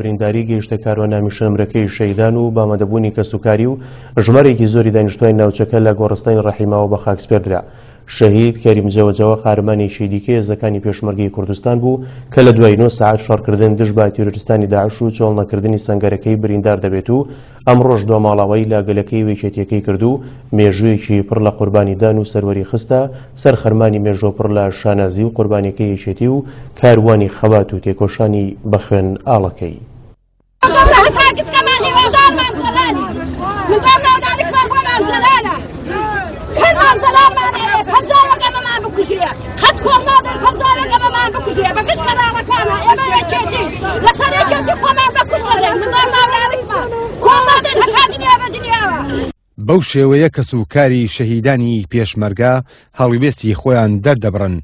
برینداری گەیشتە کاروانە میشنەمرەکەی شەهیدان و بە ئامادەبوونی کەسوکاری و ژمارێکی زۆری دانیشتوانی ناوچەکە لە گۆڕستانی ڕەحیماوە بە خاک سپێردرا. شەهید کەریم جەوەجەوە قارەمانێکی دیکەی هێزەکانی پێشمەرگەی کوردستان بوو کە لە دوای نۆ سەعات شەڕکردن دژ بە تیرۆریستانی داعش و چۆڵنەکردنی سەنگەرەکەی بریندار دەبێت و ئەمڕۆش دواماڵاوایی لە گەلەکەی و یەکێتیەکەی کرد و مێژوویەکی پڕ لە قوربانیدان و سەروەری خستە سەر خەرمانی مێژووە پڕ لە شانازی و قوربانیەکەی یەکێتی و کاروانی خەبات و تێکۆشانی بە خوێن ئاڵەکەی. بەو شێوەیە کەسوکاری شەهیدانی پێشمەرگە هەڵوێستی خۆیان دەردەبڕن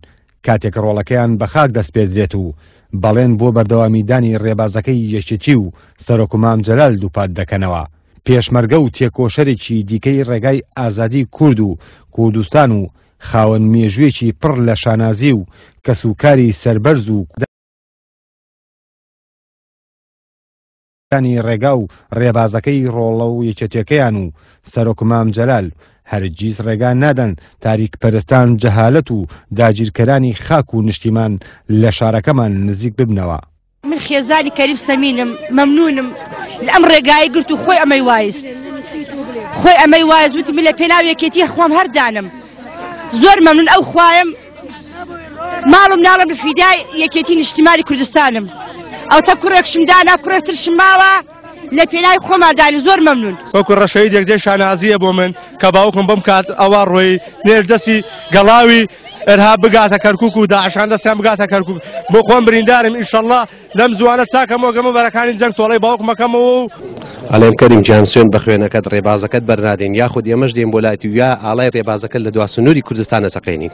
کاتێک ڕۆڵەکەیان بە خاک دەسپێردرێت و بەڵێن بۆ بەردەوامیدانی ڕێبازەکەی یەکێتی و سەرۆک مام جەلال دووپات دەکەنەوە. پێشمەرگە و تێکۆشەرێکی دیکەی ڕێگای ئازادی کورد و کوردستان و خاوەن مێژوویەکی پڕ لە شانازی و کەسوکاری سەربەرز و انی ڕێگا و ڕێبازەکەی ڕۆڵە و یەکێتیەکەیان و سەرۆک مام جەلال هەرگیز ڕێگا نادەن تاریک پەرستان جەهالەت و داگیرکەرانی خاک و نیشتیمان لە شارەکەمان نزیک ببنەوە. من خێزانی کەریم سەمینم مەمنونم لە ئەم ڕێگای گرت و خۆی ئەمەی وایست خۆی ئەمەی وایست وتی من لە پێناو یەکێتی خۆم هەردانم زۆر مەمنون ئەو خوایەم ماڵم ناڵم بە فیدای یەکێتی نیشتیمانی کوردستانم ئەو تا کوڕێکشم دانا کوڕێکترشم ماوە لە پێناوی خۆماندانی زۆر مەمنون. وەکو ڕەشەیدێک جێی شانازییە بۆ من کە باوکم بەم کات ئەوا ڕۆیی نێر دەستی گەڵاوی ئەرها بگاتە کەرکوک و داعشان دەستیان بگاتە کەرکوک بۆ خۆم بریندارم ئیشەڵڵا لەم زوانە چاکەمەوە گەمە بەرەکانی جەنگ تۆڵەی باوکم ئەکەمەوە و ئەڵێم کەریم گیان سوێند بە خوێنەکەت ڕێبازەکەت بەرنادەین یاخود ئێمەش دێین بۆ لات و یا ئاڵای ڕێبازەکەت لە دوا سنووری کوردستان ئەچەقێنین.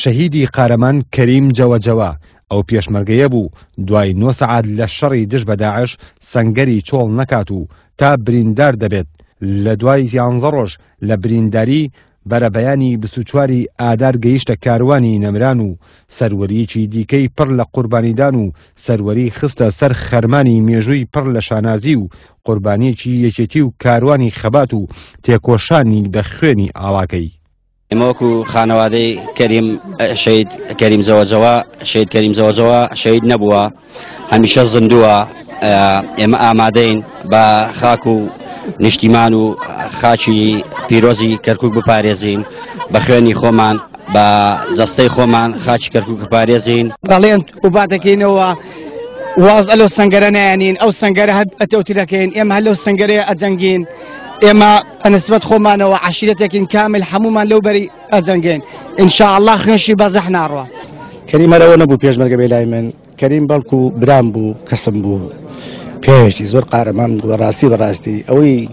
شەهیدی قارەمان کەریم جەوەجەوە ئەو پێشمەرگەیە بوو دوای نۆ سەعات لە شەڕی دژ بە داعش سەنگەری چۆڵ نەکات و تا بریندار دەبێت لە دوای یانزە ڕۆژ لە برینداری بەرەبەیانی 24 ی ئادار گەیشتە کاروانی نەمران و سەروەرییەکی دیکەی پڕ لە قوربانیدان و سەروەری خستە سەر خەرمانی مێژووی پڕ لە شانازی و قوربانییەکی یەکێتی و کاروانی خەبات و تێکۆشانی بە خوێنی ئاڵاکەی. ئێمە وەکو خانەوادەی کەریم شەهید کەریم زەوەجەوە شەهید کەریم زەوەجەوە شەهید نەبووە هەمیشە زیندووە ئێمە ئامادەین بە خاک و نیشتیمان و خاکی پیرۆزی کەرکک بپارێزین بە خوێنی خۆمان بە جەستەی خۆمان خاکی کەرکک بپارێزین. بەڵێن وباتەکەینەوە واز ئەلو سنگەرە نایەنین ئەو سنگەرە هەر ئەتەوتی دەکەین ئێمە هەر لەو سنگەرەیە ئەجەنگین ئێمە ئەنسبەت خۆمانەوە عەشیرەتێکین کامل هەمومان لەو بەری ئەجەنگێن ان شاء الله خوێنشی بەزەح ناڕوا. کەریم هەر ئەوە نەبوو پێشمەرگە بێ لای من کەریم بەڵکو برام بوو کەسم بوو پیاوێکی زۆر قارەمان بوو بەڕاستی بەڕاستی ئەوەی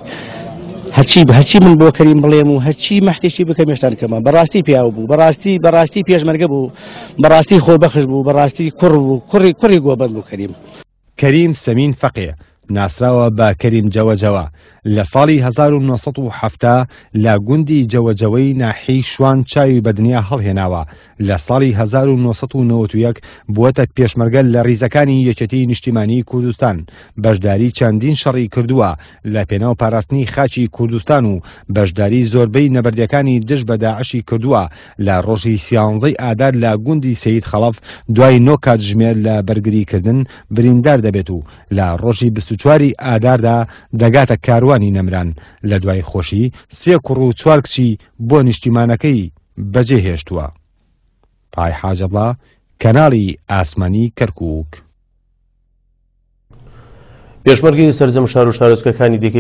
هەرچی هەرچی من بۆ کەریم بڵێم و هەرچی مەحتێکی بکەم هێشتان کەمە بەڕاستی پیاو بوو بەڕاستی بەڕاستی پێشمەرگە بوو بەڕاستی خۆبەخش بوو بەڕاستی کوڕ بوو کوڕی کوڕی گۆبەند بوو کەریم. کەریم سەمین فەقێ، ناسراوە بە کەریم جەوەجەوە، لە ساڵی 1970 لە گوندی جەوەجەوەی ناحیەی شوان چاوی بە دنیا هەڵهێناوە، لە ساڵی 1991 بووەتە پێشمەرگە لە ڕیزەکانی یەکێتیی نیشتیمانیی کوردستان، بەشداری چەندین شەڕی کردووە لە پێناو پاراستنی خاکی کوردستان و بەشداری زۆربەی نەبەردەکانی دژ بە داعشی کردووە، لە ڕۆژی سیانزەی ئادار لە گوندی سەید خەڵەف دوای نۆ کاتژمێر لە بەرگریکردن بریندار دەبێت و لە ڕۆژی 24 ی ئاداردا دەگاتە کاروانی نەمران، لە دوای خۆشی سێ کوڕ و چوار کچی بۆ نیشتیمانەکەی بەجێ هێشتووە. پای حاجەڵا، کەناڵی ئاسمانی کەرکووک. پێشمەرگەی سەرجەم شار و شارۆچکەکانی دیکەی.